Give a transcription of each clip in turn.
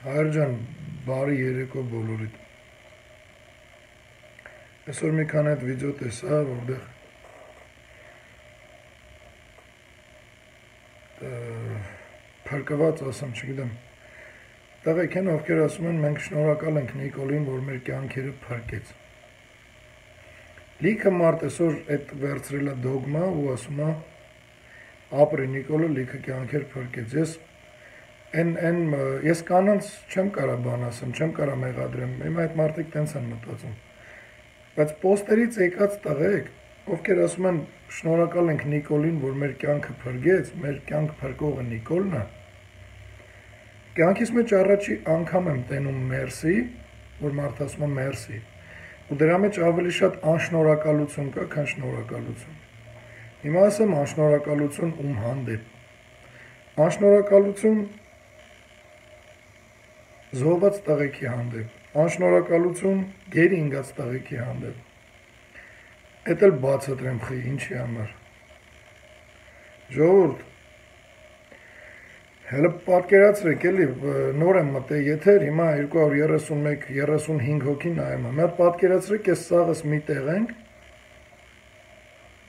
Հայր ջան, բարի երեկո բոլորիդ։ Այսօր մի քանի այդ վիդեո տեսա, որտեղ փրկված ասեմ, չգիտեմ։ Տղեկ են, ովքեր ասում են, մենք շնորհակալ ենք Նիկոլին, որ մեր կյանքերը փրկեց։ Լիքը մարդ այսօր այդ վերցրել է դոգմա ու ասում է ապրի Նիկոլը լիքը կյանքեր փրկեց։ Ես կանանց չեմ կարա բան ասեմ, չեմ կարա մեղադրեմ, հիմա այդ մարդիկ տենց են մտածում։ Բայց պոստերից եկած տղեկ, ովքեր ասում են շնորհակալ ենք Նիկոլին, որ մեր կյանքը փրկեց, մեր կյանք փրկողը Նիկոլն է։ Կյանքիս մեջ առաջի անգամ եմ տենում մերսի, որ մարդ ասում է մերսի։ Ու դրա մեջ ավելի շատ անշնորհակալություն կա, քան շնորհակալություն։ Հիմա ասեմ անշնորհակալություն ում հանդեպ։ Անշնորհակալություն զոհված տղեկի հանդեպ, անշնորհակալություն գերի ինգած տղեկի հանդեպ։ Էդ էլ բացատրեմ խի ինչի համար։ Ժողովուրդ, հələ պատկերացրեք էլի, նոր եմ մտել եթեր, հիմա 231-35 հոգի նայում եմ։ Հələ պատկերացրեք, ես սաղս մի տեղ ենք,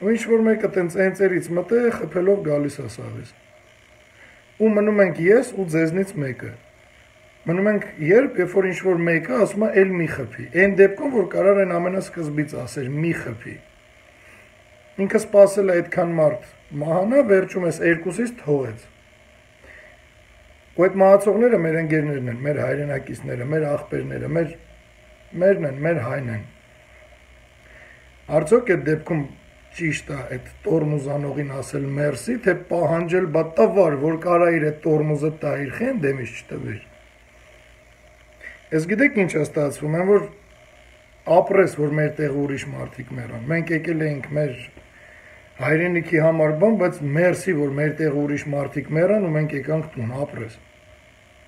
ու ինչ-որ մեկը տենց ընծերից մտել, խփելով գալիս է սաղից։ Ու մնում ենք ես ու ձեզնից մեկը։ Մնում ենք երբ որ ինչ-որ մեկը ասում է էլ մի խփի։ Այն դեպքում, որ կարար այն ամենասկզբից ասեր մի խփի։ Ինքը սպասել է այդքան մարդ մահանա, վերջում ես երկուսից թողեց։ Ու այդ մահացողները մեր ընկերներն են, մեր հայրենակիցները, մեր աղբերները, մերն են, մեր հայն են։ Արդյոք այդ դեպքում ճիշտ է այդ տորմուզանողին ասել մերսի, թե պահանջել բատավար, որ կարա իր այդ տորմուզը տա իր խեն դեմից չտվիր։ Ես գիտեք ինչ է ստացվում, են որ ապրես, որ մեր տեղ ուրիշ մարդիկ մեռան։ Մենք եկել էինք մեր հայրենիքի համար բան, բայց մերսի, որ մեր տեղ ուրիշ մարդիկ մեռան ու մենք եկանք տուն ապրես։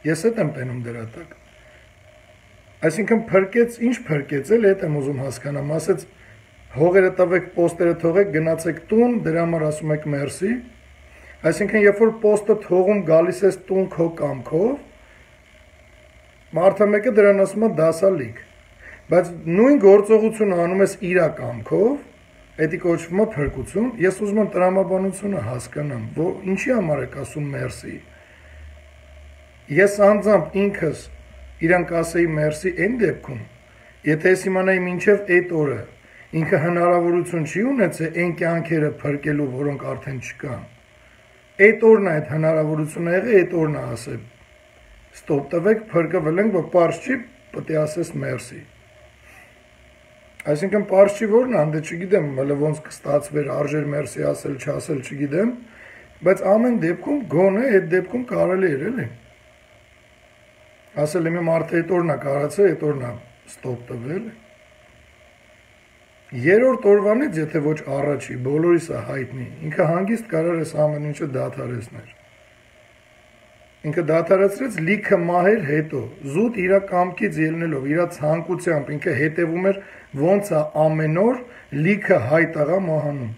Ես էդ եմ տենում դրա տակ։ Այսինքն փրկեց, ինչ փրկեց էլ էդ եմ ուզում հասկանամ, ասեց հողերը տվեք, պոստերը թողեք, գնացեք տուն, դրա համար ասում եք մերսի։ Այսինքն երբ որ պոստը թողում գալիս ես տուն քո կամքով, մարդը մեկը դրան ասում է դասալիք, բայց նույն գործողությունը անում ես իր կամքով, էդի կոչվում է փրկություն, ես ուզում եմ տրամաբանությունը հասկանամ, որ ինչի համար եք ասում մերսի։ Ես անձամբ ինքս իրան կասեի մերսի այն դեպքում, եթե ես իմանայի մինչև այդ օրը, ինքը հնարավորություն չի ունեցել այն կյանքերը փրկելու, որոնք արդեն չկան։ Այդ օրն է այդ հնարավորությունը եղել, այդ օրն է ասել ստոպ տվեք, փրկվել ենք, որ պարզ չի, պետք է ասես մերսի։ Այսինքն պարզ չի որն է, դե չգիտեմ, հələ ոնց կստացվեր արժեր մերսի ասել, չասել, չգիտեմ, բայց ամեն դեպքում գոնե այդ դեպքում կարելի էր էլի։ Ասել եմ մարդը այդ օրն է կարացել, այդ օրն է ստոպ տվել։ Երրորդ օրվանից, եթե ոչ առաջի, բոլորիս է հայտնի, ինքը հանգիստ կարար էս ամեն ինչը դադարեցներ։ Ինքը դադարեցրեց լիքը մահեր հետո, զուտ իր կամքից ելնելով, իր ցանկությամբ, ինքը հետևում էր ոնց է ամեն օր լիքը հայ տղա մահանում։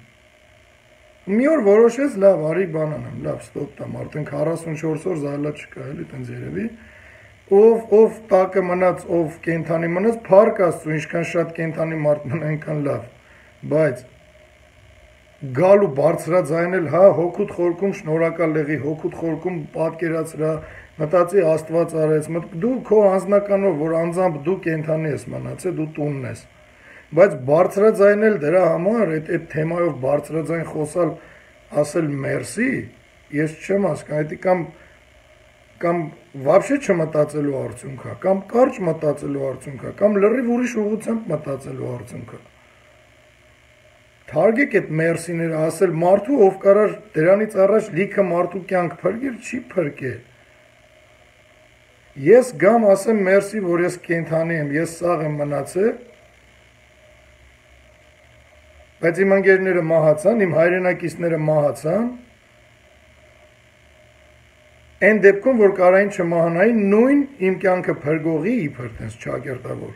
Մի օր որոշեց, լավ, արի բան անեմ, լավ, ստոպ տամ, արդեն 44 օր զայլա չկա, էլի տենց երևի։ Ով տակը մնաց, ով կենթանի մնաց, փառք Աստծո, ինչքան շատ կենթանի մարդ մնա, այնքան լավ, բայց գալու բարձրաձայնել, հա, հոգուտ խորքում շնորհակալ եղի, հոգուտ խորքում պատկերացրա, մտածի Աստված արեց, դու քո անձնականով, որ անձամբ դու կենթանի ես մնացել, դու տունն ես, բայց բարձրաձայնել դրա համար, այդ թեմայով բարձրաձայն խոսալ, ասել մերսի, ես չեմ հասկանում, կամ вообще չմտածելու արդյունք է, կամ կարճ մտածելու արդյունք է, կամ լրիվ ուրիշ ուղղությամբ մտածելու արդյունք է։ Թարգեք այդ մերսիները ասել մարդու, ով կարար դրանից առաջ լիքը մարդու կյանք փրկել, չի փրկել։ Ես գամ ասեմ մերսի, որ ես կենթանի եմ, ես սաղ եմ մնացել, բայց իմ ընկերները մահացան, իմ հայրենակիցները մահացան, այն դեպքում, որ կարային չմահանային, նույն իմ կյանքը փրկողի իբր տենց չակերտավոր,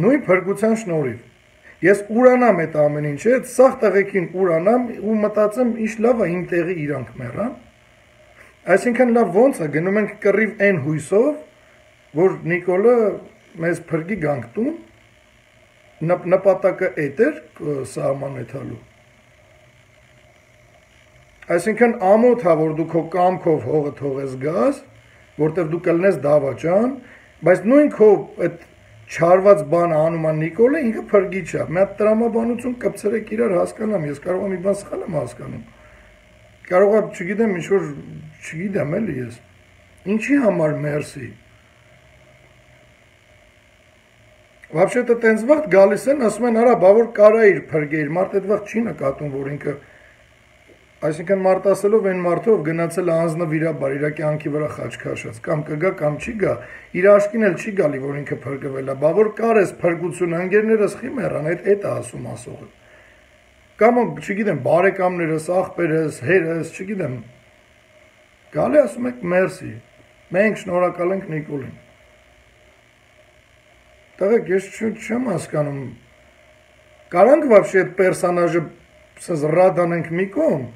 նույն փրկության շնորհիվ։ Ես ուրանամ այդ ամեն ինչը, այդ սաղ տղեկին ուրանամ ու մտածեմ, ինչ լավ է իմ տեղի իրանք մեռան, Այսինքն լավ ոնց է գնում ենք կռիվ այն հույսով, որ Նիկոլը մեզ փրկի գանք տուն, նպատակը էդ էր սահմանեցալու։ Այսինքն ամոթ է, որ դու քո կամքով հողը թողես գաս, որտեղ դու կլնես դավաճան, բայց նույն քո այդ չարված բանը անում է Նիկոլը, ինքը փրկիչ է։ Մի հատ տրամաբանություն կպցրեք իրար հասկանամ, ես կարող եմ մի բան սխալ եմ հասկանում։ Կարող է, չգիտեմ, ինչ-որ, չգիտեմ էլի ես, ինչի համար մերսի։ Вообще-то տենց վաղտ գալիս են, ասում են, արա, բա որ կարա իր փրկեիր, մարդ այդ վաղտ չի նկատում, որ ինքը, այսինքն մարդ ասելով այն մարդով գնացել անձնվիրաբար, իր կյանքի վրա խաչ քաշած, կամ կգա, կամ չի գա, իր աշկին էլ չի գալի, որ ինքը փրկվել է, բա որ կար ես փրկություն, ընկերներս խիմերան, այդ է ասում ասողը։ Կամ, չգիտեմ, բարեկամներս, աղբերս, հերս, չգիտեմ, գալի ասում եք մերսի, մենք շնորհակալ ենք Նիկոլին։ Տղեկ, ես չեմ հասկանում, կարանք вообще այդ պերսոնաժը ռադ անենք մի կողմ,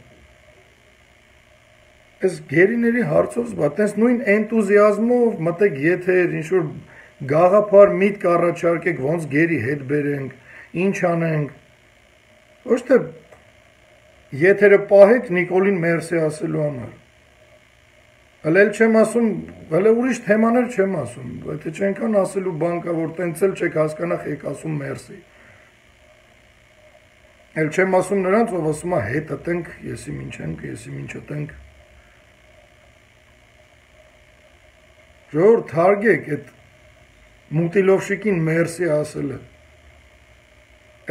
այս գերիների հարցով զբա, տենց նույն էնտուզիազմով մտեք եթեր, ինչ-որ գաղափար միտք առաջարկեք, ոնց գերի հետ բերենք, ինչ անենք, ոչ թե եթերը պահեք Նիկոլին մերսի ասելու համար։ Հələ էլ չեմ ասում, հələ ուրիշ թեմաներ չեմ ասում, եթե չենքան ասելու բան կա, որ տենց էլ չեք հասկանախ եք ասում մերսի։ Էլ չեմ ասում նրանց, ով ասում է հետը տենք, եսի մինչ ենք, եսի մինչը տենք։ Ժողովուրդ թարգեք այդ մուտիլովշիկին մերսի ասելը։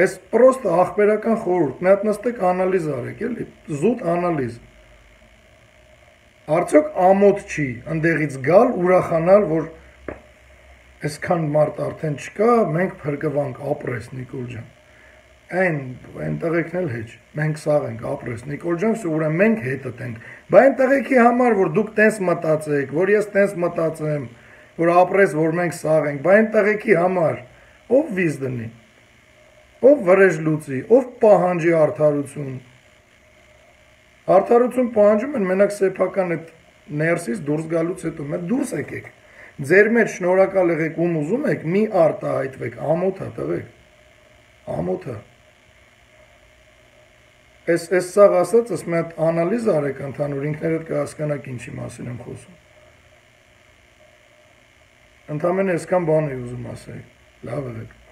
Այս պրոստը ախպերական խորհուրդ, մի հատ նստեք անալիզ արեք, էլի, զուտ անալիզ։ Արդյոք ամոթ չի ընդեղից գալ, ուրախանալ, որ այսքան մարդ արդեն չկա, մենք փրկվանք, ապրես Նիկոլ ջան։ Այն տղեկն էլ հեչ, մենք սաղ ենք, ապրես Նիկոլ ջան, ուրեմն մենք հետը տենք։ Բա այն տղեկի համար, որ դուք տենց մտածեք, որ ես տենց մտածեմ, որ ապրես, որ մենք սաղ ենք, բա այն տղեկի համար, ով վիզ դնի, ով վրեժ լուծի, ով պահանջի արդարություն։ Արդարություն պահանջում են մենակ սեփական այդ ներսից դուրս գալուց հետո, մենք դուրս եկեք։ Ձեր մեջ շնորհակալ եղեք ում ուզում եք, մի արտահայտվեք, ամոթ է տղեկ։ Ամոթ է։ Այս սաղ ասած, ես մի հատ անալիզ արեք ընդհանուր, ինքներդ կհասկանաք ինչի մասին եմ խոսում։ Ընդամենը այսքան բան էի ուզում ասել։ Լավ եղեք։